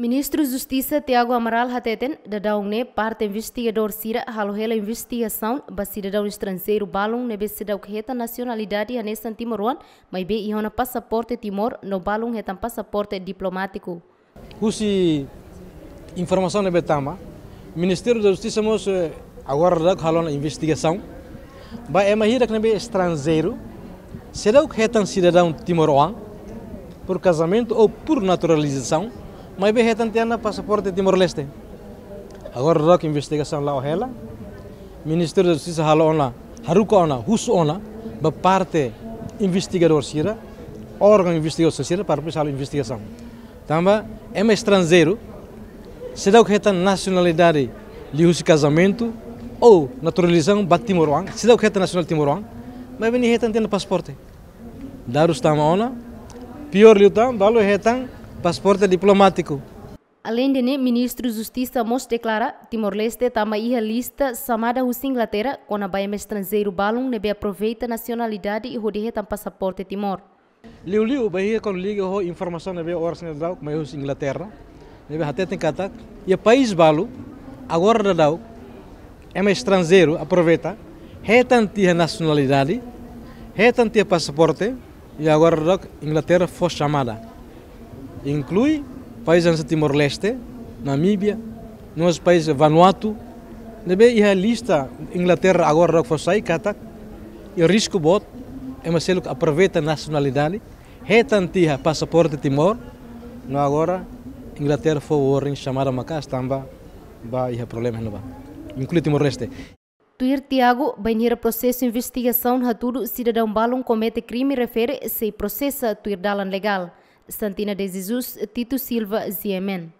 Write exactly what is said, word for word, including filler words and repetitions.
Ministru Justisa Tiago Amaral hateten, daudaun ne'e parte investigadór sira halo hela investigasaun ba sidadaun estranjeiru balun ne'ebé seidauk hetan nasionalidade hanesan timoroan, maibé iha ona pasaporte Timor no balun hetan pasaporte diplomátiku. Husi informasaun ne'ebé tama, Ministériu da Justisa mós, eh, agora daudauk halo ona investigasaun ba ema hirak ne'ebé estranjeiru, seidauk hetan sidadaun timoroan, por kazamentu ou por naturalizasaun, maibé hetan tiha ona pasaporte Timor-Leste. Agora daudauk investigasaun la'o hela, Ministériu da Justisa halo ona, haruka ona, husu ona ba parte investigadór sira, órgaun investigadór sira, para depois halo investigasaun. Tanba ema estranjeiru seidauk hetan nasionalidade liuhusi kazamentu ou naturalizasaun ba timoroan, seidauk hetan nasionál timoroan, maibé nia hetan tiha ona pasaporte. Dadus tama ona, piór liután, balu hetan pasaporte diplomátiku. Aleinde ne'e, Ministru Justisa mós deklara, Timor-Leste tama iha lista xamada husi Inglaterra, kona-ba ema estranjeiru balun ne'ebé aproveita nasionalidade hodi hetan pasaporte Timor. Liuliu, bainhira kuandu liga ho informasaun ne'ebé oras ne'e daudauk mai husi Inglaterra, ne'ebé hateten katak iha país balu, agora daudauk, ema estranjeiru aproveita, hetan tiha nasionalidade, hetan tiha pasaporte, i agora daudauk Inglaterra fó xamada. Inklui país hanesan Timor-Leste, Namíbia, no mós país Vanuatu, ne'ebé iha lista Inglaterra agora daudauk fó sai katak iha risku boot ema seluk aproveita nasionalidade, hetan tiha pasaporte Timor, no agora Inglaterra fó warning, xamada maka'as tanba bá iha problema iha ne'ebá, inklui Timor-Leste. Tuir Tiago, bainhira prosesu investigasaun hatudu sidadaun balun komete krime refere sei prosesa tuir dalan legál. Santina de Jesus, Tito Silva, G M N.